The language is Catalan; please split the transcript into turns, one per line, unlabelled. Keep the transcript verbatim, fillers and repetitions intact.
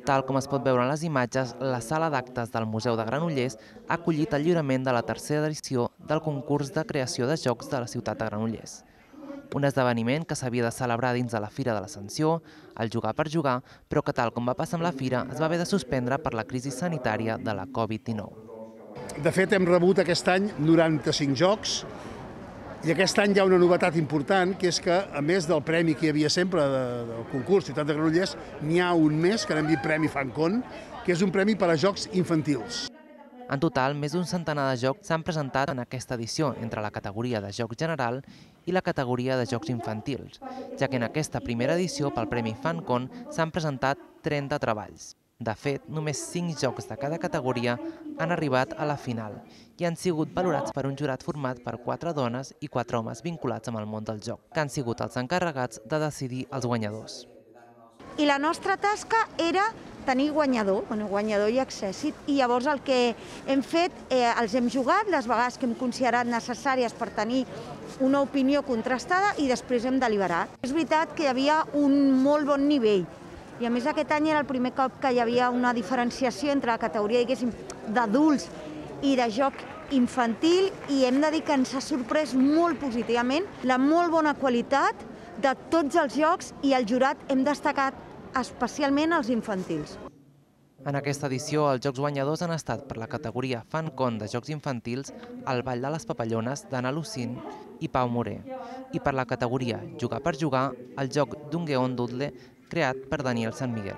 Tal com es pot veure en les imatges, la sala d'actes del Museu de Granollers ha acollit el lliurament de la tercera edició del concurs de creació de jocs de la ciutat de Granollers. Un esdeveniment que s'havia de celebrar dins de la Fira de l'Ascensió, el Jugar per Jugar, però que tal com va passar amb la Fira es va haver de suspendre per la crisi sanitària de la Covid dinou.
De fet, hem rebut aquest any noranta-cinc jocs i aquest any hi ha una novetat important, que és que, a més del premi que hi havia sempre del concurs Ciutat de Granollers, n'hi ha un més, que n'hem dit Premi Fancon, que és un premi per a jocs infantils.
En total, més d'un centenar de jocs s'han presentat en aquesta edició entre la categoria de joc general i la categoria de jocs infantils, ja que en aquesta primera edició pel Premi Fancon s'han presentat trenta treballs. De fet, només cinc jocs de cada categoria han arribat a la final i han sigut valorats per un jurat format per quatre dones i quatre homes vinculats amb el món del joc, que han sigut els encarregats de decidir els guanyadors.
I la nostra tasca era tenir guanyador, bueno, guanyador i accèssit, i llavors el que hem fet, eh, els hem jugat les vegades que hem considerat necessàries per tenir una opinió contrastada i després hem deliberat. És veritat que hi havia un molt bon nivell, i a més aquest any era el primer cop que hi havia una diferenciació entre la categoria, diguéssim, d'adults i de joc infantil, i hem de dir que ens ha sorprès molt positivament la molt bona qualitat de tots els jocs, i el jurat hem destacat especialment els infantils.
En aquesta edició, els jocs guanyadors han estat per la categoria Fancon de jocs infantils El ball de les papallones d'Anna Lucín i Pau Moré, i per la categoria Jugar per Jugar el joc Dungeon Doodle creat per Daniel San Miguel.